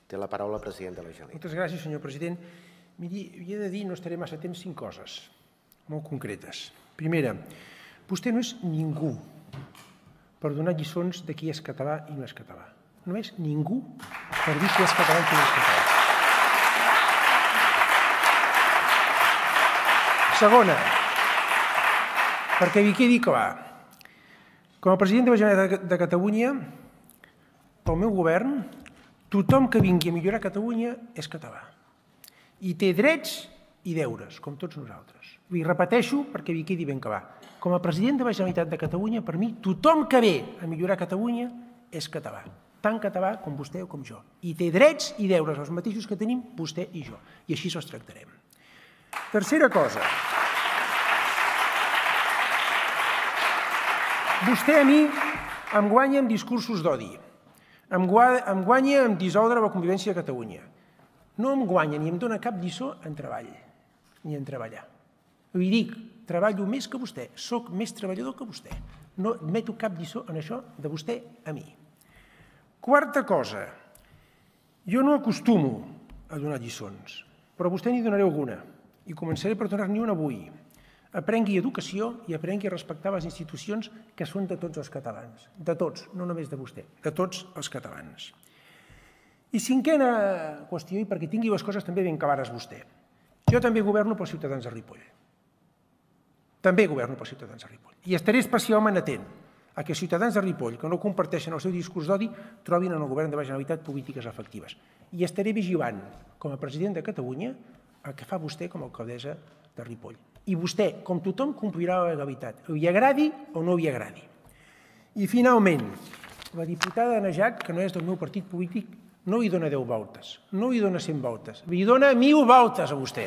Té la paraula el president de la Generalitat. Moltes gràcies, senyor president. Miri, havia de dir, no estaré massa temps, 5 coses molt concretes. Primera, vostè no és ningú per donar lliçons de qui és català i no és català. No és ningú per dir qui és català i qui no és català. Segona, perquè hi quedi clar, com a president de la Generalitat de Catalunya, pel meu govern, tothom que vingui a millorar Catalunya és català. I té drets i deures, com tots nosaltres. Ho repeteixo perquè hi quedi ben clar. Com a president de la Generalitat de Catalunya, per mi, tothom que ve a millorar Catalunya és català. Tant català com vostè o com jo. I té drets i deures, els mateixos que tenim vostè i jo. I així els tractarem. Tercera cosa. Vostè a mi em guanya amb discursos d'odi. Em guanya amb dissoldre la convivència a Catalunya. No em guanya ni em dona cap lliçó en treball, ni en treballar. Li dic, treballo més que vostè, soc més treballador que vostè. No admeto cap lliçó en això de vostè a mi. Quarta cosa, jo no acostumo a donar lliçons, però vostè n'hi donaré alguna, i començaré per donar-n'hi una avui. Aprengui educació i aprengui a respectar les institucions que són de tots els catalans. De tots, no només de vostè, de tots els catalans. I cinquena qüestió, i perquè tingui les coses també ben clares vostè. Jo també governo pels ciutadans de Ripoll. També governo pels ciutadans de Ripoll. I estaré especialment atent a que els ciutadans de Ripoll, que no comparteixen el seu discurs d'odi, trobin en el govern de la Generalitat polítiques efectives. I estaré vigilant, com a president de Catalunya, el que fa vostè com a alcaldessa de Ripoll. I vostè, com tothom, complirà la legalitat, li agradi o no li agradi. I finalment, la diputada Najat, que no és del meu partit polític, no li dona 10 voltes, no li dona 100 voltes, li dona 1000 voltes a vostè.